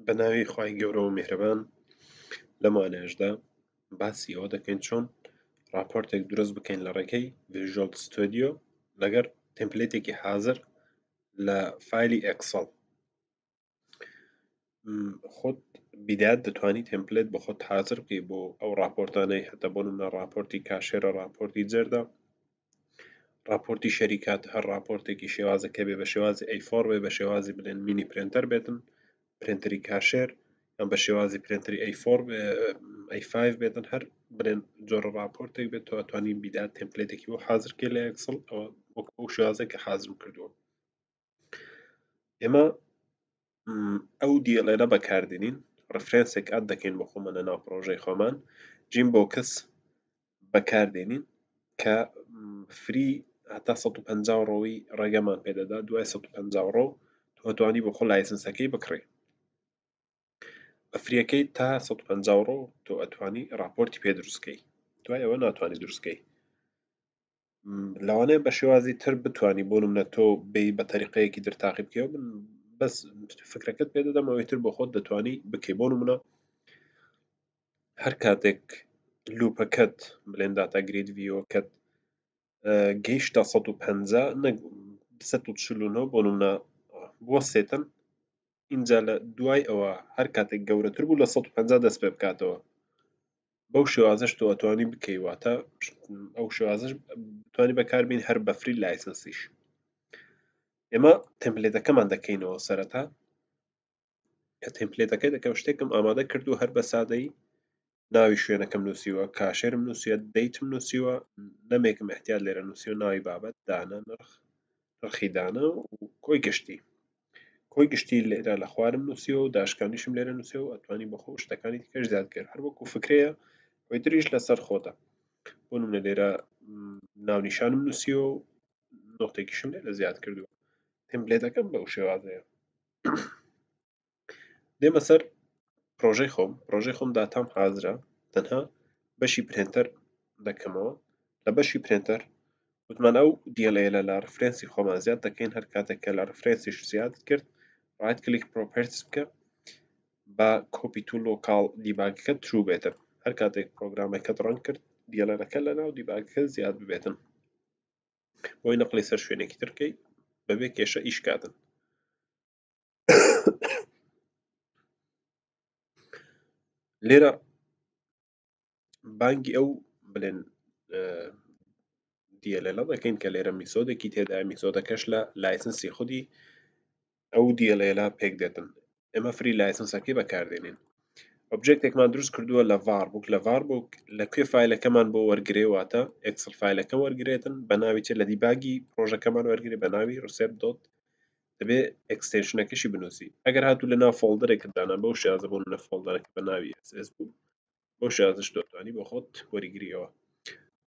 بە ناوی خوای گەورە و میهرەبان. لەم وانەیەشدا باسی ئەوە دەکەین چۆن ڕاپۆرتێک دروست بکەین لە ڕێگەی Visual Studio لەگەر template ێکی حازر لە فایلی Excel. خۆت بیدات دەتوانی template بە خۆت حازر بکەی بۆ ئەو ڕاپۆرتانەی هەتە، بۆ نمونە ڕاپۆرتی cashier ە، ڕاپۆرتی جەردە، ڕاپۆرتی شەریکات، هەر ڕاپۆرتێکی شێوازەکە بێ، بە شێوازی A4 بێ، بە شێوازی بلێن mini printer بێتن، پرینتەری cashier، یان بە شێوازی پرینتەری A4 A5 بێتن، هەر بلێن جۆرە ڕاپۆرتێک بێت تۆ ئەتوانی بیدات template ێکی بۆ حازرکەی لە Excel، ئەوە وەک ئەو شێوازێک کە حازرم کردووە. ئێمە ئەو DLL ە بەکاردێنین، reference ێک add دەکەین بۆ خۆمان لە ناو پرۆژەی خۆمان، GemBox بەکاردێنین کە free هەتا 150 row ی ڕێگەمان پێدەدا. دوای 150 row تۆ توانی بۆ خۆ license ەکەی بکڕی. بە free یەکەی تا 150 row تۆ ئەتوانی ڕاپۆرتی پێ دروستکەی، دوای ئەوە ناتوانانی دروستکەی. لەوانەیە بە شێوازی تر بتانی، بۆ نمونە تۆ بێی بە تەریقەیەکی تر تاقی بکەیەوە، من بەس فکرەکەت پێ دەدەم، ئەوەی تر بۆ خۆت دەتوانی بکەی. بۆ نمونە هەر کاتێک loop ەکەت بلێن data grid view ەکەت گەیشتە 150 نەک 149 بۆ نمونە بوەستێتن، اینجا لە دوای ئەوە هەر کاتێک گەورەتر بوو لە 150 دەست پێ بکاتەوە. بەو شێوازەش تۆ ئەتوانی بکەی، واتە ئەو شێوازەش بتوانی بەکاربین هەر بە free license یش. ئێمە template ەکەمان دەکەینەوە. سەرەتا کە template ەکەی دەکەم شتێکم ئامادە کردو، هەر بە سادەیی ناوی شوێنەکەم نووسیوە، cashier م نووسیوە، date م نووسیوە، نەمێکم احتیاط لێرە نووسیوە، ناوی بابەت، دانە، نرخ، نرخی دانە و کۆی گشتی. کۆی گشتی لێرە لە خوارم نووسیوە و داشکانیشم لێرە نووسیوە و ئەتوانی بۆ خۆ شتەکانی دیکەش زیاد کرد، هەر وەکو فکرەیە، ئەوی تریش لەسەر خۆتە. بۆ نمونە لێرە ناونیشانم نووسیوە و نۆتێکیشم لێرە زیاد کردووە. template ەکەم بەو شێوازەیە. دێمە سەر پرۆژەی خۆم. پرۆژەی خۆم داتام حازرە، تەنها بەشی printer دەکەمەوە. لە بەشی printer وتمان ئەو DLL لە reference ی خۆمان زیاد دەکەین. هەر کاتێک کە لە reference یش زیاد کرد، right click properties بکە، با copy to local debug ەکە true بێتن. هەر کاتێک پرۆگرامەکەت run کرد، DLL ەکە لە ناو debug ەکە زیاد ببێتن، بۆی نەقلی سەر شوێنێکی ترکەی بەبێ کێشە ئیش کاتن. لێرە بانگی ئەو بلێن DLL دەکەین کە لێرە method ێکی تێدا، method ەکەش لە license ی خودی ئەو DLL پێک دێتن. ئێمە free license ەکەی بەکاردێنین. object ێکمان دروست کردووە لە VarBook. لە VarBook لە کوێ فایلەکەمان بۆ وەرگێ؟ واتە Excel فایلەکە وەرگێتن بە ناوی چێ؟ لە debug ی پرۆژەکەمان وەرگێ بە ناوی receipt dot، دەبێ extension ەکەشی بنووسی. ئەگەر هاتوو لە ناو folder ێک دانا بەو شێوازە، بۆ نمونە folder ەکە بە ناوی SS بوو، بەو شێوازەش دەتوانی بۆ خۆت وەریگریەوە.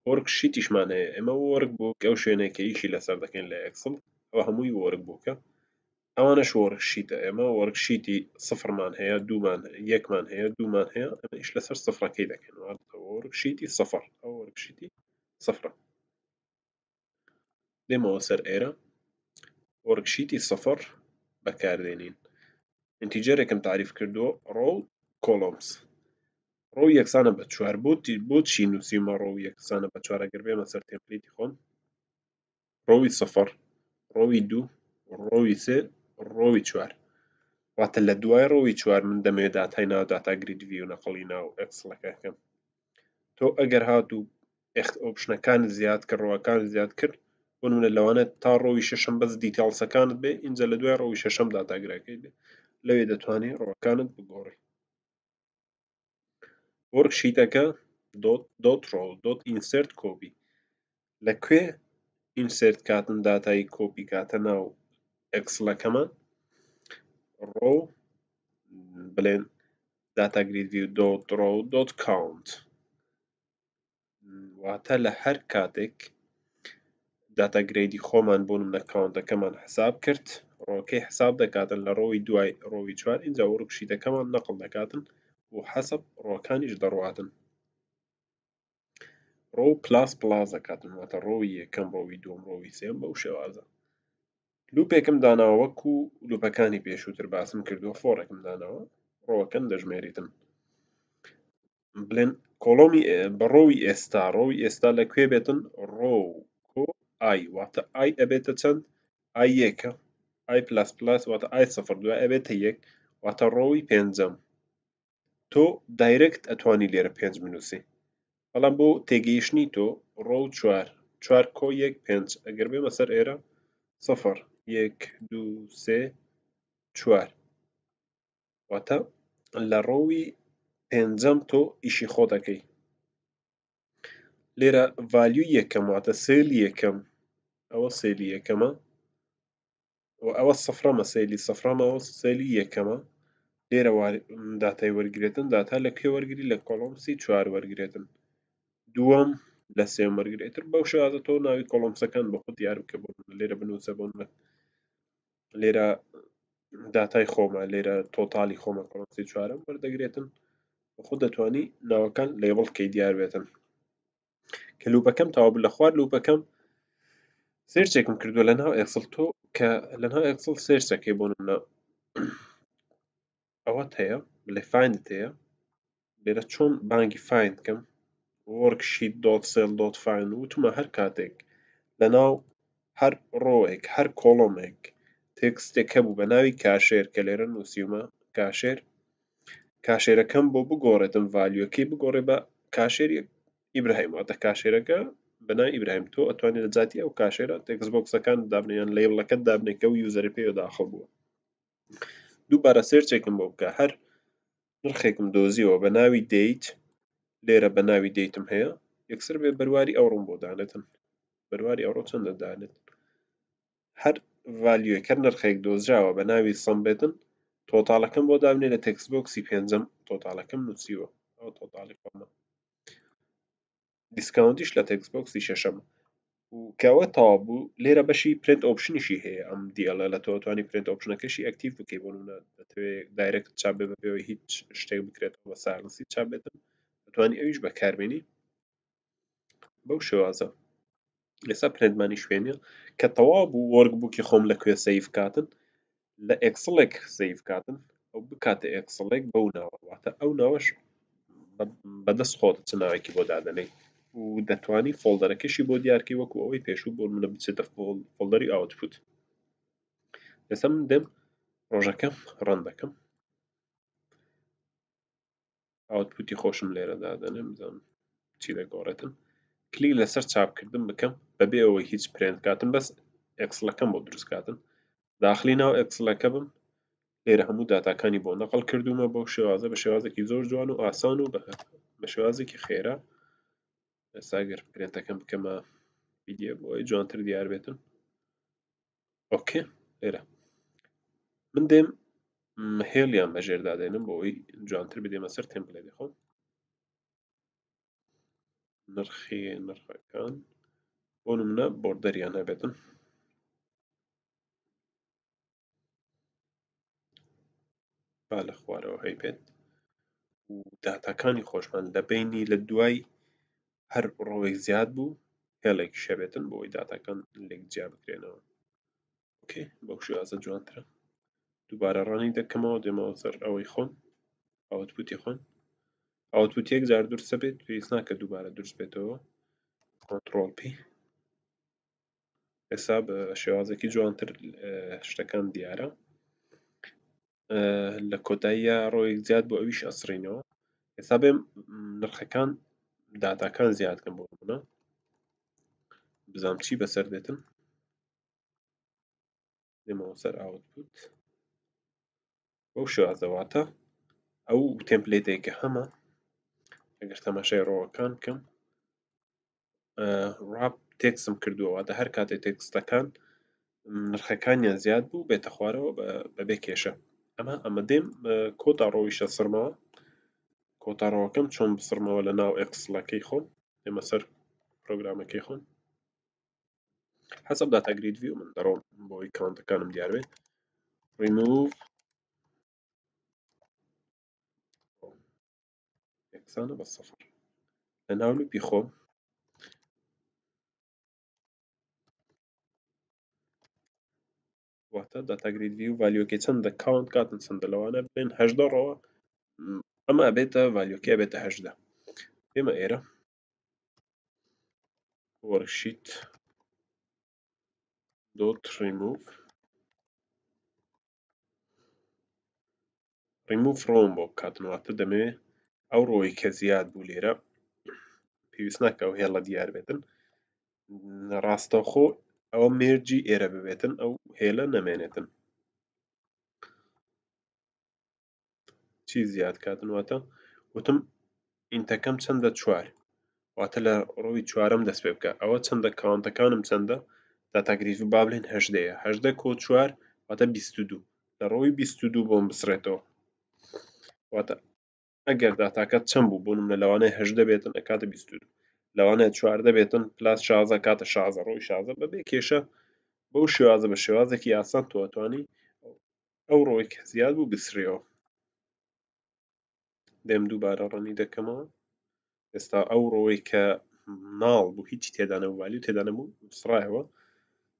worksheet یشمان هەیە. ئێمە workbook ئەو شوێنێک کە ئیشی لەسەر دەکەین لە Excel، ئەوە هەمووی workbook ە، ئەوانەش worksheet ە. ئێمە worksheet ی سفرمان هەیە، دوومان، یەکمان هەیە، دوومان هەیە. ئەمە ئیش لەسەر سفرەکەی دەکەین، واتە worksheet ی سفر، ئەو worksheet ی سفرە. دێمەوە سەر ئێرە، worksheet ی سفر بەکاردێنین. integer ێکم تعریف کردووە، row columns، row یەکسانە بە چوار. بۆ چی نووسیمە row یەکسانە بە چوار؟ ئەگەر بێمە سەر template ی خۆم، row ی سفر، row ی دوو، row ی سێ، row ی چوار، واتە لە دوای row ی چوار من دەمەوێت داتای ناو data grid view نەقڵی ناو Excel ەکەکەم. تۆ ئەگەر هاتوو option ەکان زیاد کرد، row ەکان زیاد کرد، بۆ نمونە لەوانە تا row ی شەشەم بەس details ەکانت بێ، اینجا لە دوای row ی شەشەم data grid ەکەی بێ، لەوێ دەتوانێت row ەکانت بگۆڕی. worksheet ەکە dot dot row dot insert copy، لە کوێ insert کاتن داتای کۆپی کاتە ناو Excel ەکەمان؟ row بلێن data grid view dot row dot count، واتە لە هەر کاتێک data grid ی خۆمان بۆ نمونە count ەکەمان حساب کرد، row کەی حساب دەکاتن لە row ی دوای row ی چوار، اینجا worksheet ەکەمان نەقل دەکاتن و حەسب row کانیش دەڕواتن، row plus plus دەکاتن، واتە row ی یەکەم، row ی دووەم، row ی سێم، بەو شێوازە. loop ێکم داناوە وەکو loop ەکانی پێشووتر باسم کردووە، for ێکم داناوە. row ەکەن دەژمێریتن. بڵێن column ی بە row ی ئێستا، row ی ئێستا لە کوێ بێتن؟ row کۆ i، واتە i ئەبێتە چەند؟ i یەکە، i plus plus واتە i سفر دوای ئەبێتە یەک، واتە row ی پێنجەم. تۆ direct ئەتوانی لێرە پێنج بنووسی، بەڵام بۆ تێگەیشتنی تۆ row چوار، چوار کۆ یەک پێنج، ئەگەر بێمە سەر ئێرە سفر یەک دوو سێ چوار، واتە لە row ی پێنجەم تۆ ئیشی خۆ دەکەی. لێرە value ی یەکەم واتە cell ی یەکەم، ئەوە cell ی یەکەمە و ئەوە سفرەمە، cell ی سفرەمە، ئەوە cell ی یەکەمە. لێرە داتای وەرگێتن، داتا لە کوێ وەرگری؟ لە columns ی چوار وەرگێتن، دووەم لە سێم وەرگێتر. بەو شێوازە تۆ ناوی columns ەکان بۆ خۆت دیار بکە. بۆ لێرە بنووسە، بۆ لێرە داتای خۆمە، لێرە total ی خۆمە، columns ی چوارەم وەردەگرێتن. خۆ دەتوانی ناوەکان label کەی دیار بێتن. کە loop ەکەم تەواو بوو، لە خوار loop ەکەم search ێکم کردووە لە ناو Excel. تۆ کە لە ناو Excel search ەکەی بۆ نمونە ئەوەت هەیە، بڵێ find ت هەیە. لێرە چۆن بانگی find کەم؟ worksheet dot cell dot find. وتمە هەر کاتێک لە ناو هەر row ێک هەر column ێک text ێک هەبوو بە ناوی cashier کە لێرە نووسیومە cashier، cashier ەکەم بۆ بگۆڕێتم، value ەکەی بگۆڕێ بە cashier ئیبراهیم، واتە cashier ەکە بە ناوی ئیبراهیم. تۆ ئەتوانێت لە جاتی ئەو cashier ە text box ەکان دابنێ یان label ەکەت دابنێ کە ئەو user ی پێوە داخڵ بووە. دووبارە search ێکم بۆ بکە، هەر نرخێکم دۆزیەوە بە ناوی date، لێرە بە ناوی date م هەیە، یەکسەر بێ بەرواری ئەوڕۆم بۆ دانێتن. بەرواری ئەوڕۆ چەندە دانێت؟ هەر value ێک هەر نرخێک دۆزراوە بە ناوی sum بێتن، total ەکەم بۆ دابنێ لە text box ی پێنجەم. total ەکەم نووسیوە، ئەو total ی خۆمە. discount یش لە text box ی شەشەم. و کەەوە تەواو بوو، لێرە بەشی print option یشی هەیە. ئەم DLL لە تۆ توانی print option ەکەشی active بکەی. بۆ نمونە دەتەوێت direct چاپ بێ بەبێەوەی هیچ شتێک بکرێتەوە بە silence ی چاپ بێتن، دەتوانی ئەویش بەکاربێنی بەو شێوازە. ئێستا print مانی شوێنە کە تەواو بوو، workbook ی خۆم لە کوێ save کاتن؟ لە Excel ێک save کاتن، ئەو بکاتە Excel ێک بەو ناوە، واتە ئەو ناوەش بەدەست خۆت چ ناوێکی بۆ دادەنێی و دەتوانی folder ەکەشی بۆ دیارکەی وەکو ئەوەی پێشوو، بۆ منە بچێتە folder ی output. ئێستا من دێم ڕۆژەکەم run دەکەم، output ی خۆشم لێرە دادەنێم، بزانم چی دەگۆڕێتن. کلیک لەسەر چاپکردن بکەم بەبێ ئەوەی هیچ print کاتن، بەس Excel ەکەم بۆ دروست کاتن. داخلی ناو Excel ەکە بم، لێرە هەموو داتاکانی بۆ نەقل کردومە بەو شێوازە، بە شێوازێکی زۆر جوان و ئاسان و بە شێوازێکی خێرا. ئێستا ئەگەر print ەکەم بکەمە PDF بۆ ئەوەی جوانتر دیار بێتن. okay، لێرە من دێم هێڵیان بەژێر دادێنم بۆ ئەوەی جوانتر بدێمە سەر template ی خۆم. نرخی نرخەکان بۆ نمونە border یان هەبێتن. با لە خوارەوە هەیبێت و داتاکانی خۆشمان لە بینی لە دوای هەر row ێک زیاد بوو هێڵێک شەبێتن بۆ ئەوەی داتاکان لێک جیا بکرێنەوە. okay، بەو شێوازە جوانترە. دووبارە run ی دەکەمەوە، دێمەوە سەر ئەوەی خۆم، output ی خۆم. output یەک جار دروستە بێت، پێویست ناکە دووبارە دروست بێتەوە. control P. ئێستا بە شێوازێکی جوانتر شتەکان دیارە. لە کۆتاییە row ێک زیاد بۆ ئەویش ئەسڕینەوە. ئێستا بێم نرخەکان داتاکان زیاد کەم بۆ نمونە، بزانم چی بەسەر دێتن. دێمەوە سەر output بەو شێوازەواتە ئەو template ێک کە هەمە. ئەگەر تەماشای row ەکان بکەم، wrap text م کردووە، واتە هەر کاتێک text ەکان نرخەکانیان زیاد بوو بێتە خوارەوە بەبێ کێشە. ئەمە دێم کۆتا row یشە سڕمەوە. کۆتا row ەکەم چۆن بسڕمەوە لە ناو Excel ەکەی خۆم؟ دێمە سەر پرۆگرامەکەی خۆم، حەسەب data grid view من دەڕۆم بۆی count ەکانم دیار بێت. ریموڤ یەکسانە بە سفر لە ناو loop ی خۆم. واتە data grid view value ەکەی چەندە count کاتن چەندە، لەوانە بڵێن 18 row ە. ئەمە ئەبێتە value ەکەی ئەبێتە 18. ئێمە ئێرە worksheet dot remove remove row م بۆ بکاتن، واتە دەمەوێ ئەو row ی کە زیاد بوو لێرە پێویست ناکە ئەو هێڵە دیار بێتن، ڕاستەوخۆ ئەوە merge ی ئێرە ببێتن، ئەو هێلە نەمێنێتن. چی زیاد کاتن؟ واتە وتم int ەکەم چەندە؟ چوار، واتە لە row ی چوارەم دەست پێ بکە. ئەوە چەندە؟ count ەکانم چەندە؟ data grid با بڵێن هەژدەیە، هەژدە کۆ چوار واتە 22. لە row ی 22 بۆم بسڕێتەوە. واتە ئەگەر داتاکە چەند بوو، بۆ نمونە لەوانەیە هەژدە بێتن ئەکاتە 22، لەوانەیە چواردە بێتن plus 16 کاتە 16، row ی 16 بەبێ کێشە. بەو شێوازە بە شێوازێکی ئاسان تۆ ئەتوانی ئەو row ی کە زیاد بوو بسڕیەوە. دێم دووبارە run ی دەکەمەوە. ئێستا ئەو row ی کە null بوو هیچی تێدا نەبوو، value تێدا نەبوو، سڕایەوە.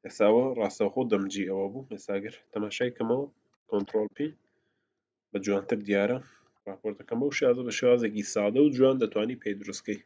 ئێستا ئەوە ڕاستەوخۆ دەمجی ئەوە بوو. ئێستا گەر تەماشای کەمەوە control P بە جوانتر دیارە ڕاپۆرتەکەم. بەو شێوازە بە شێوازێکی سادە و جوان دەتوانی پێی دروستکەی.